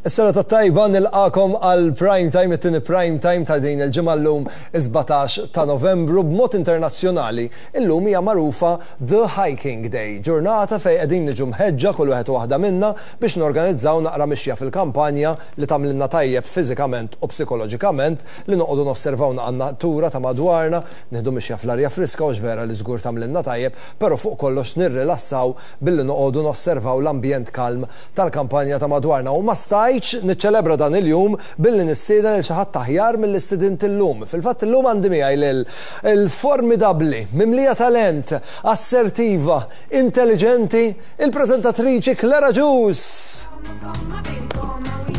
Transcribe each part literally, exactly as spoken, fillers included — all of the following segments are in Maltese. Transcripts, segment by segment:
Is-serata tajba, nilqagħkom għal prime time, it-tieni prime time ta' din il-ġimgħa, llum is-sbatax ta' Novembru. B'mod internazzjonali, illum hija magħrufa The Hiking Day, ġurnata fejn qegħdin niġu mħeġġa kull wieħed u waħda minna biex norganizzaw naqra mixja fil-kampanja li tagħmlilna tajjeb fiżikament u psikoloġikament, li noqogħdu nosservaw natura ta' madwarna, nieħdu mixja fl-arja friska u vera li żgur tagħmlilna tajjeb, però fuq kollox nirrilassaw billi noqogħdu nosservaw l-ambjent kalm tal-kampanja ta' madwarna. U ma stajtx niċċelebra dan il-jum billi nistieden lil xi ħadd aħjar mill-istudent illum. Fil-fatt illum għandi miegħi lil il-formidabbli, mimlija talent, assertiva, intelligenti, il-preżentatriċi Claire Agius.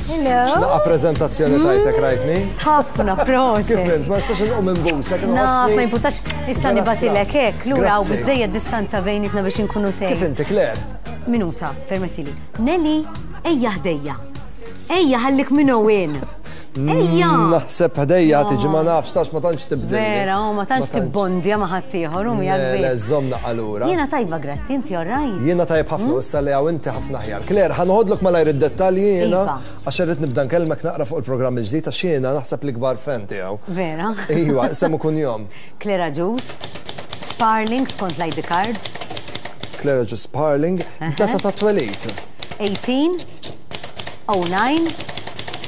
Hello. X'naqa preżentazzjoni tajtek, rajtni? Ħafna, prosit. Kif int, ma nistax inqum minn busek. Naf, ma jimpurtax, issa nibgħatilek hekk, lura u biżejjed distanza bejnietna biex inkunu sej. Kif inti, Claire? Minuta, permettili. Nelly, ejja ħdejja. Ejja, ħallik minn Owen. Ejja! Naħseb ħdejja tiġi, ma nafx, tax ma tantx tibdil. Vera, u ma tantx tibbondja ma ħaddieħor u miegħek. Le, żomna allura. Jiena tajba, grazzi, inti alright? Jiena tajb ħafna, issa li hawn inti ħafna aħjar. Claire, ħa noħodlok malajr id-dettalji jiena Iva. għax irrid nibda nkellmek naqra fuq il-programm il-ġdid, għax jiena naħseb l-ikbar fan tiegħu. Vera. Iva, semmu kunjom. Claire Agius, Sparling skont l-I D card. Claire Agius Sparling, data ta' twelid. eighteen oh nine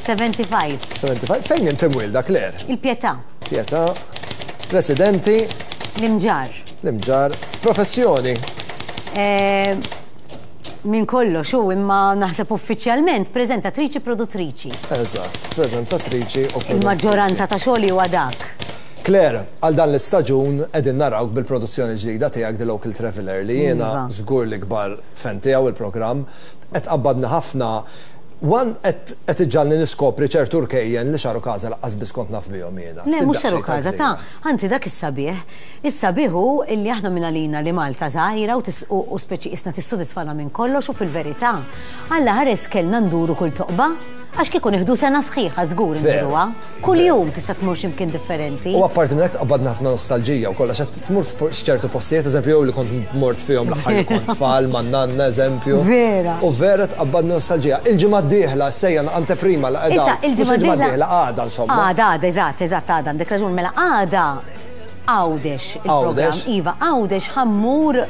seventy-five. sebgħa u sebgħin. Fejn inti mwilda, Claire? Il-Pietà. Pietà. Residenti? L-Imġarr. L-Imġarr. Professjoni? Eh, Min kollox u imma naħseb uffiċjalment preżentatriċi, produttriċi. Eżatt, preżentatriċi u produttriċi. Il-maġġoranza ta' xogħli huwa dak. Claire, għal dan l-istaġun qegħdin narawk bil-produzzjoni ġdida tiegħek The Local Traveller, li jiena Iva. żgur li kbar fan tiegħu il-programm. Qed qabbadni ħafna. One, qed qed iġġalni niskopri ċertu rkejjen li x'għarukaża lanqas biss kont naf bihom jiena. Le, Ftit mhux daqsxejn xaru kaza, ta' ta' anzi dak is-sabiħ. Is-sabiħ hu illi aħna minn għalina li Malta żgħira u tis- u u speċi isna tissodisfana minn kollox u fil-verità. Alla ħares kellna nduru kull toqba, għax kieku nieħdu sena sħiħa żgur Veru. nduruha. Kull jum tista' tmur x'imkien differenti. U apparti minn hekk tqabbadna ħafna nostalġija u kollox, qed tmur f'ċertu postijiet, eżempju, jew li kont mort fihom l-aħħar li kont tfal man nanna, eżempju. Vera. U vera tqabbadna nostalġija. Il-ġimgħa d-dieħla sejja anteprima la qiegħda. Issa, il-ġimgħa Mhux d-dieħla. Għada, insomma. Għada, għada, eżatt, eżatt, għada, għandek raġun, mela għada Għawdex il-programm. Għawdex. Iva, Għawdex ħa mmur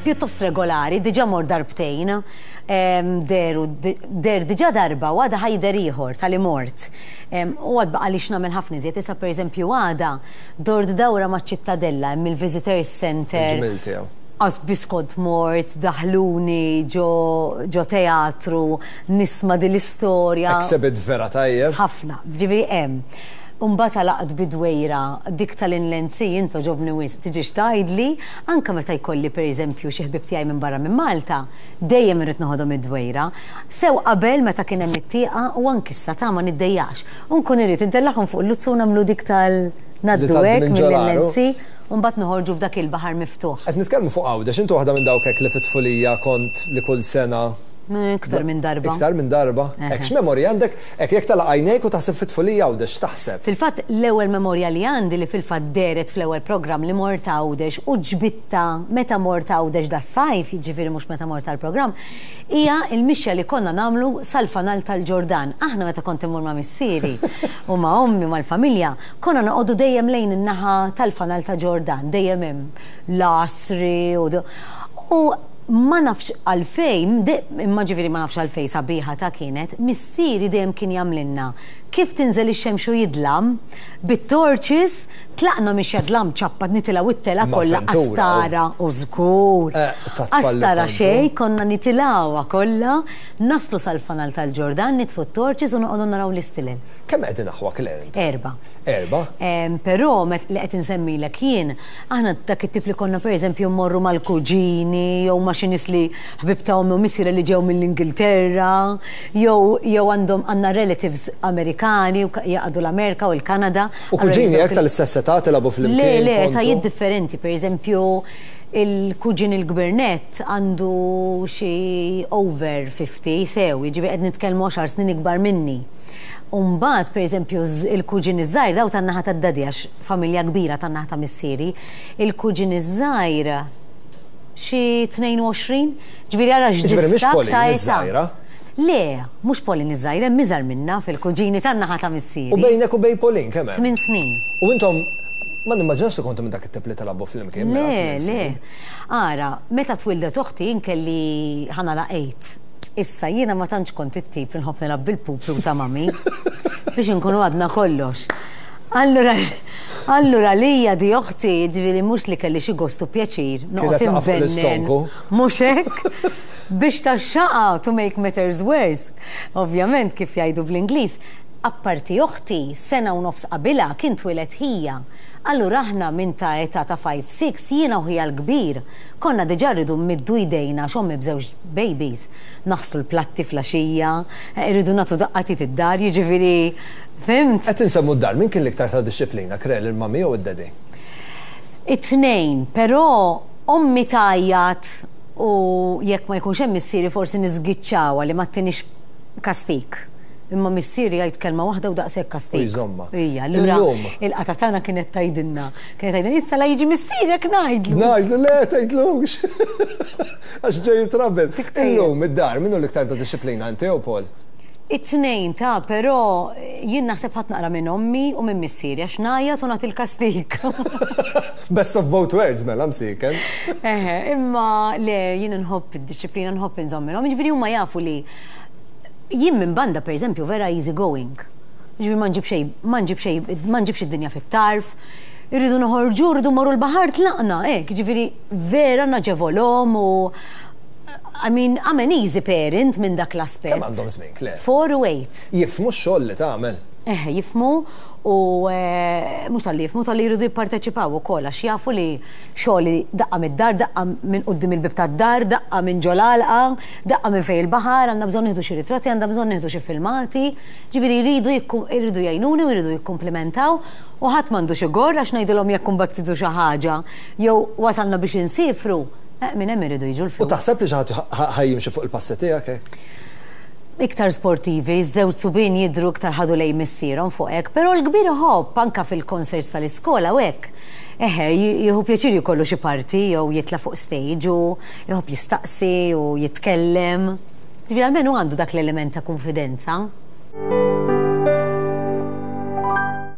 pjuttost regolari, diġà mort darbtejn, em, deru, der diġà darba u għada ħa jidher ieħor tal mort. Em, U għad baqa li x'nagħmel ħafna iżjed, issa per eżempju għada dort dawra ma' ċittadella, hemm il-Visitors Center. Il-ġmil tiegħu. Għax biss kont mort, daħluni ġo, ġo teatru, nisma' din l-istorja. Exhibit vera tajjeb. Ħafna, ġifieri hemm. Umbagħad għalaqt bid-Dwejra, dik tal-Inland Sea, into ġobni wisq, tiġi xtajdli, anka meta jkolli per eżempju xi ħbib tiegħi minn barra minn Malta, dejjem irrid noħodhom id-Dwejra. Sew qabel meta kien hemm it-tieqa u anki issa ta' ma niddejjax. U nkun irrid intellagħhom fuq il-luzzu u nagħmlu dik tal ngħaddu tgħaddi hekk minn ġol mill-Inland Sea u mbagħad noħorġu f'dak il-baħar miftuħ. Qed nitkellmu fuq Għawdex, inti waħda minn dawk hekk li fit-tfulija kont li kull sena Iktar minn darba. Iktar minn darba. Hekk x'memorja għandek, hekk jekk tagħlaq għajnejk u taħseb fit-tfulija Għawdex, taħseb? Fil-fatt l-ewwel memorja li għandi, li fil-fatt dehret fl-ewwel programm li mort Għawdex u ġbitta meta mort Għawdex das-sajf, jiġifieri mhux meta mort tal-programm, hija il-mixja li konna nagħmlu sal-fanal tal-Ġordan. Aħna meta kont immur ma' missieri u ma' ommi, mal-familja, konna noqogħdu dejjem lejn in-naħa tal-fanal ta' Ġordan, dejjem hemm l-asri u u ma nafx għalfejn, imma ġifieri ma nafx għalfejn sabiħa ta' kienet, missieri dejjem kien jagħmlilna kif tinżel ix-xemx u jidlam, bit-torches, tlaqna mixja dlam ċappa nitilgħu it-telgħa kollha qastara u żgur. Eh, Qastara xejn, konna nitilgħuha kollha, naslu sal-fanal tal-Ġordan, nitfu t-torches u noqogħdu naraw l-istilel. Kemm qegħdin aħwa, Claire? Erba. Erba? Però li qed insemmilek jien, aħna dak it-tip li konna pereżempju mmorru mal-kuġini jew ma' xi nies li ħbib ta' ommi u missieri li ġew mill-Ingilterra, jew jew għandhom għandna relatives Amerikani u jaqgħdu l-Amerika u l-Kanada. U kuġini hekk tal-istess età tilagħbu flimkien? Le, le, etajiet differenti, pereżempju il-kuġin il-gvernet għandu xi over fifty sew, jiġifieri qed nitkellmu għaxar snin ikbar minni. Umbagħad, per eżempju, il-kuġin iż-żgħir, daw tan-naħa tad-daddy, għax familja kbira tan-naħa ta' missieri, il-kuġin iż-żgħir xi tnejn u għoxrin, ġifieri ara Ġifieri mhix x'distakk Pauline ta' età. iż-żgħira? Le, mhux Pauline iż-żgħira, hemm iżgħar minna fil-kuġini tan-naħa ta' missieri. U bejnek u bejn Pauline kemm hemm? Tmien snin. U intom ma nimmaġinax li kontu minn dak it-tip li tilagħbu flimkien. Mela, Le, tmien le. snin. Ara, meta twildet oħti jien kelli ħa nagħlaq eight. Issa jiena ma tantx kont it-tip li nħobb nilgħab bil-pupi ta' mami biex inkunu għadna kollox. Allura, allura lija di oħti, ġifieri mhux li kelli xi gostu pjaċir, noqgħod Kienet naqa' fuq inbennen. l-istonku. Mhux hekk? Biex tax-xaqa to make matters worse. Ovvjament kif jgħidu bl-Ingliż, apparti oħti sena u nofs qabilha kien twieled ħija. Allura aħna minn ta' età ta' ħamsa sitta jiena u ħija l-kbir konna diġà rridu mmiddu jdejna x'ommi b'żewġ babies. Naħslu l-platti filgħaxija, rridu nagħtu daqqa t'id id-dar, jiġifieri fhimt? Qed insemmu d-dar, min kien l-iktar ta' dixxiplina, Claire, il-mami jew id-daddy? It-tnejn, però ommi tgħajjat u jekk ma jkunx hemm missieri forsi niżgiċċawha li ma ttinix kastik. Imma missieri jgħid kelma waħda u daqshekk kastik. U jżomma. Ija, allura Illum. il-qata tagħna kienet tgħidilna. Kienet tgħidilna issa la jiġi missierek ngħidlu. Ngħidlu, le, tgħidlux. Għax ġej jitrabbel. Tiktejjeb. Illum, id-dar, minnu l-iktar ta' dixxiplina, inti jew Paul? It-tnejn ta' però jien naħseb ħadt naqra minn ommi u minn missieri għax ngħajjat u nagħti l-kastik. Best of both worlds, mela, msiken. Eħe, imma le, jien nħobb id-dixxiplina, nħobb inżomm minnhom. Jiġifieri huma jafu li jien minn banda, per eżempju, vera easy going. Jiġifieri ma nġib xejn, ma nġib xejn, ma nġibx id-dinja fit-tarf. Irridu noħorġu, irridu morru l-baħar tlaqna, hekk, jiġifieri vera naġevolhom u I mean, I'm an easy parent minn dak l-aspett. Kemm għandhom żmien, Claire? Four u eight. Jifhmu x-xogħol li tagħmel. Eh, jifhmu u eh, mhux talli jifhmu talli jridu jipparteċipaw ukoll għax jafu li xogħli daqqa mid-dar, daqqa minn quddiem il-bib tad-dar, daqqa minn ġol-għalqa, daqqa minn fejn il-baħar, għandna bżonn nieħdu xi ritratti, għandna bżonn nieħdu xi filmati. Ġifieri jridu jikku- jridu jgħinuni u jridu jikkumplimentaw u ħadd m'għandu xi gorr għax ngħidilhom jekk imbagħad xi ħaġa jew wasalna biex insifru. Eh, minn hemm iridu jiġu U l-flus. taħseb li xi ħadd ħa jimxi fuq il-passi tiegħek hekk? Iktar sportivi, żewġ subien jidru iktar ħadu lej missierhom fuq hekk, però l-kbir iħobb anka fil-concerts tal-iskola u hekk. Eħe, jieħu pjaċir jkollu xi parti jew jitla' fuq stage u jħobb jistaqsi u jitkellem. Ġifieri almenu għandu dak l-element ta' konfidenza.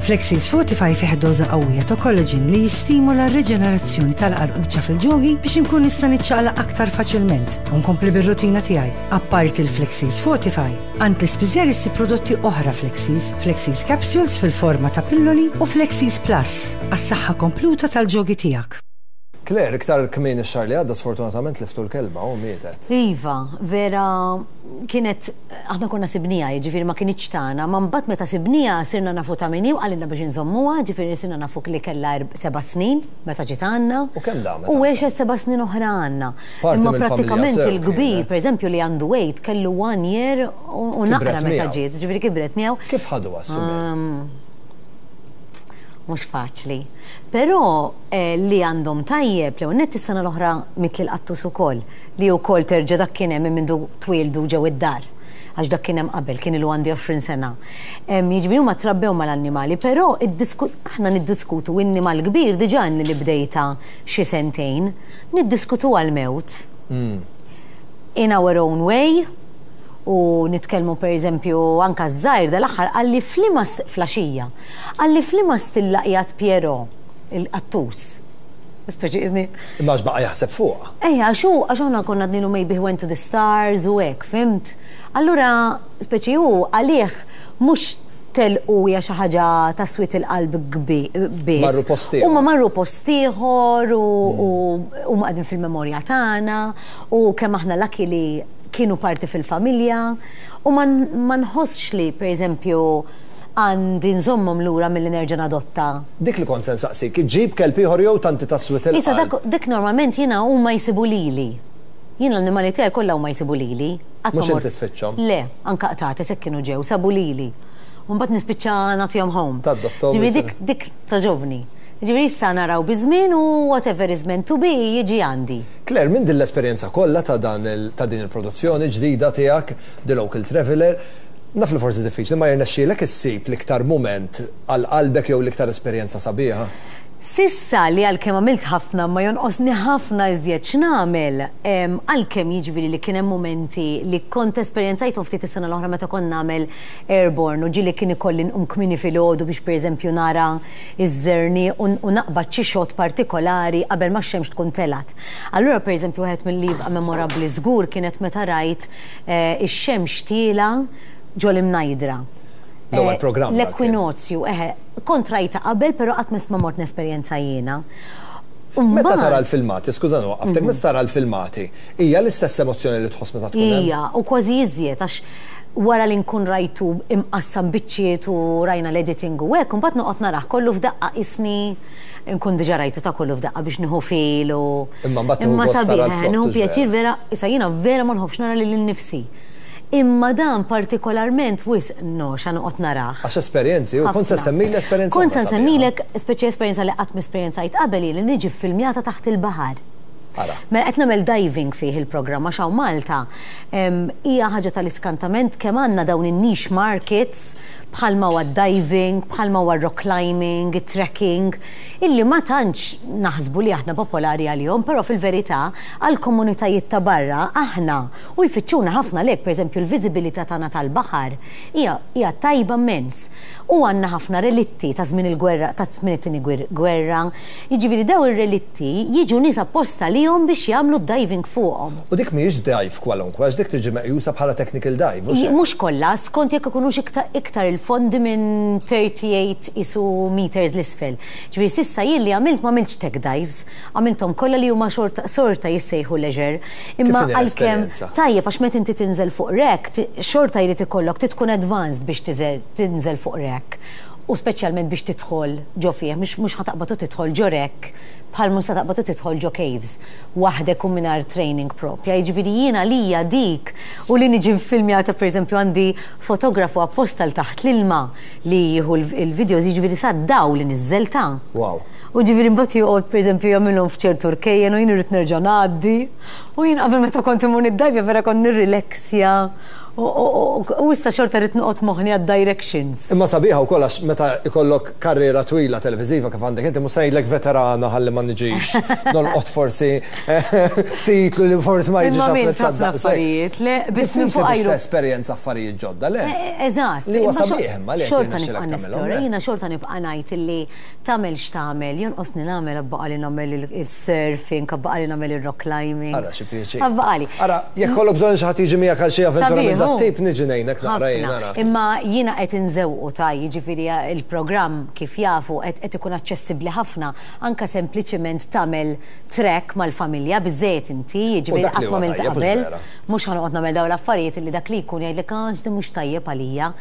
Flexis Fortify fih doża qawwija ta' collagen li jistimula r-reġenerazzjoni tal-qarquċa fil-ġogi biex inkun nista' niċċaqlaq aktar faċilment u nkompli bir-rutina tiegħi. Apparti l-Flexis Fortify, għand l-ispiżjar issib prodotti oħra Flexis, Flexis Capsules fil-forma ta' pilloli u Flexis Plus għas-saħħa kompluta tal-ġogi tiegħek. Claire, iktar kmieni x-xahar li għadda sfortunatament tliftu l-kelba u mietet. Iva, vera kienet, aħna konna sibnieha, ġifieri ma kinitx tagħna, ma mbagħad meta sibnieha sirna nafu ta' min hi u qalilna biex inżommuha, ġifieri sirna nafu li kellha erb- seba' snin meta ġiet għandna. U kemm damet U għandna? għexet seba' snin oħra għandna. Parti Imma mill-familja prattikament sew il-kbir, kienet. per eżempju, li għandu eight, kellu one year u u naqra Kibret meta miegħu. ġiet, ġifieri kibret miegħu. Kif ħadu għas-subien? Um, Mhux faċli. Però eh, li għandhom tajjeb, li net is-sena l-oħra miet il-qattus ukoll, li wkoll terġa' dak kien hemm minn mindu twieldu ġew id-dar. Għax dak kien hemm qabel, kien ilu għandi għoxrin sena. Em, Jiġifieri huma trabbew mal-annimali, però iddisku- aħna niddiskutu n-nimal kbir diġà li bdejta xi sentejn, niddiskutu għal-mewt in our own way u nitkellmu per eżempju anka żgħir dal-aħħar qalli f'liema filgħaxija, qalli f'liema stilla qiegħed Piero il-qattus. Speċi izni. Imma għax baqa' jaħseb fuqha. Ejja, għax hu għax aħna konna għednielu maybe he went to the stars u hekk, fhimt? Allura, speċi hu għalih mhux telqu hija xi ħaġa ta' swied il-qalb biss. Marru post ieħor. Huma marru post ieħor u huma qegħdin fil-memorja tagħna u kemm aħna lucky li kienu parti fil-familja u ma ma nħossx li pereżempju għandi nżommhom lura milli nerġa' nadotta. Dik li kont se nsaqsik, iġġib kelb ieħor jew tanti ta' swied Issa il-qalb? dak dik normalment jiena huma jsibu lili. Jiena l-annimali tiegħi kollha huma jsibu lili. Qatt ma Mhux mort- inti tfittxhom? Le, anka qtates hekk kienu ġew, sabu lili. U mbagħad nispiċċa nagħtihom home. Tadottom Ġifieri jisiru. dik dik togħġobni. Ġifieri issa naraw biż-żmien u whatever is meant to be jiġi għandi. Claire, minn din l-esperjenza kollha ta' dan il- ta' din il-produzzjoni ġdida tiegħek, The Local Traveller, naf li forsi diffiċli ma jirnexxielek issib l-iktar moment għal qalbek jew l-iktar esperjenza sabiħa. S'issa li għalkemm għamilt ħafna ma jonqosni ħafna iżjed x'nagħmel, għalkemm jiġifieri li kien hemm momenti li kont esperjenzajthom ftit is-sena l-oħra meta kont nagħmel airborne u ġieli kien ikolli nqum kmieni filgħodu biex pereżempju nara iż-żerniq u naqbad xi shot partikolari qabel ma x-xemx tkun telgħet. Allura pereżempju wieħed milli jibqa' memorabbli żgur kienet meta rajt ix-xemx tiela ġol-Imnajdra. L-ewwel programm. L-ekwinozju, eħe, kont rajta qabel, però qatt ma mort nesperjenza jiena. Meta tara l-filmati, skuża nwaqqaftek, meta tara l-filmati, hija l-istess emozzjoni li tħoss meta tkun hemm? Hija, u kważi iżjed għax wara li nkun rajtu imqassam biċċiet u rajna l-editing u hekk, imbagħad noqgħod narah kollu f'daqqa isni nkun diġà rajtu ta' kollu f'daqqa biex nieħu fil u. Imma mbagħad tieħu gost tara l-frott. Nieħu pjaċir vera, issa jiena vera ma nħobbx nara lili nnifsi. Imma dan partikolarment wisq no, xa noqgħod narah. Għax esperjenzi, u kont se nsemmilek esperjenza. Kont se nsemmilek speċi esperjenza li qatt m'esperjenzajt qabel li niġi ffilmjata taħt il-baħar. Mela qed nagħmel diving fih il-programm għax hawn Malta hija ħaġa tal-iskantament kemm għandna dawn in-niche markets bħalma huwa diving, bħalma huwa rock climbing, trekking, illi ma tantx naħsbu li aħna popolari għalihom, però fil-verità għal komunitajiet ta' barra aħna u jfittxuna ħafna lek, pereżempju l-viżibilità tagħna tal-baħar hija hija tajba immens. U għandna ħafna relitti ta' żmien il-gwerra, ta' żmien it-tieni gwerra. Jiġifieri daw ir-relitti jiġu nies apposta lihom biex jagħmlu diving fuqhom. U dik mhijiex dive kwalunkwe, għax dik tiġi meqjusa bħala technical dive, mhux hekk? Mhux kollha, skont jekk ikunux iktar il-fondi minn thirty-eight isu meters l-isfel. Ġifieri s'issa jien li għamilt ma għamiltx tech dives, għamilthom kollha li huma xorta jissejħu leisure. Imma għalkemm tajjeb għax meta inti tinżel fuq rek, xorta jrid ikollok tkun advanced biex tinżel fuq rek. U speċjalment biex tidħol ġo fih, mhux ħa taqbad u tidħol ġo rek bħal mhux sa taqbad u tidħol ġo caves waħdek u mingħajr training propja. Jiġifieri jiena lija dik u li niġi nfilmjata pereżempju għandi fotografu apposta l taħt l-ilma li jieħu il-videos, jiġifieri sa daw li niżżel ta'. Wow. U ġifieri mbagħad joqgħod pereżempju jagħmilhom f'ċertu rkejjen u jien irrid nerġa' ngħaddi. U jien qabel meta kont imur niddajvja vera kont nirrileksja. U issa xorta rrid noqgħod moħħni għad-directions. Imma sabiħa wkoll għax meta ikollok karriera twila televiżiva kif għandek inti mhux se ngħidlek veterana ħalli ma niġix nolqot forsi titlu li forsi ma jiġix apprezzat daqshekk. Le, biss minn fuq ajru. Esperjenza affarijiet ġodda, le? Eżatt. Li huwa sabiħ imma li xorta nibqa' nesplora, jiena xorta nibqa' ngħid illi tagħmel x'tagħmel, jonqosni nagħmel abbaqa' li nagħmel il-surfing, abbaqa' li nagħmel ir-rock climbing. Ara xi pjaċir. Abbaqa' li. Ara, jekk kollok bżonn xi ħadd jiġi miegħek għal xi avventura minn dat-tip niġi ngħinek naqra jien ara. Imma jiena qed inżewqu ta' jiġifieri il-programm kif jafu qed ikun aċċessibbli ħafna anke sempliċiment tagħmel trek mal-familja biżejjed inti, jiġifieri qatt ma għamilt qabel, mhux ħa noqgħod nagħmel dawn l-affarijiet illi dak li jkun jgħidlek għax din mhux tajjeb għalija.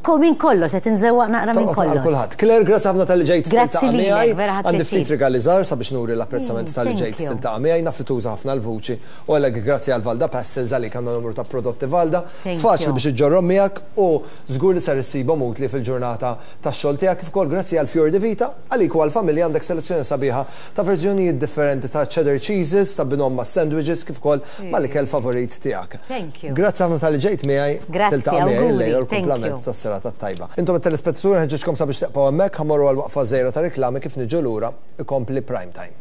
Min kollox, qed inżewwaq naqra minn kollox. Kulħadd. Claire, grazzi ħafna tal-li ġejt tiltaqa' miegħi. Għandi ftit rigali żgħar sabiex nuri l-apprezzament tal-li ġejt tiltaqa' miegħi, naf li tuża ħafna l-vuċi. U għalhekk grazzi għal Valda Pastels għalik għandna numru ta' prodotti Valda. Faċli biex iġġorrhom miegħek u żgur li ser issibhom utli fil-ġurnata tax-xogħol tiegħek kif ukoll grazzi għal Fior di Vita, għalik u għall-familja għandek selezzjoni sabiħa ta' verżjonijiet differenti ta' cheddar cheeses, ta' binhom ma' sandwiches kif ukoll mal-ikel favorit tiegħek. Grazzi ħafna tal-li ġejt miegħi tiltaqa' miegħi illejla l-kumplament tas serata tajba. Intom it-telespettaturi nħeġġiġkom sabiex teqgħu hemmhekk, ħa mmorru għal waqfa żgħira ta' reklami kif niġu lura ikompli Prime Time.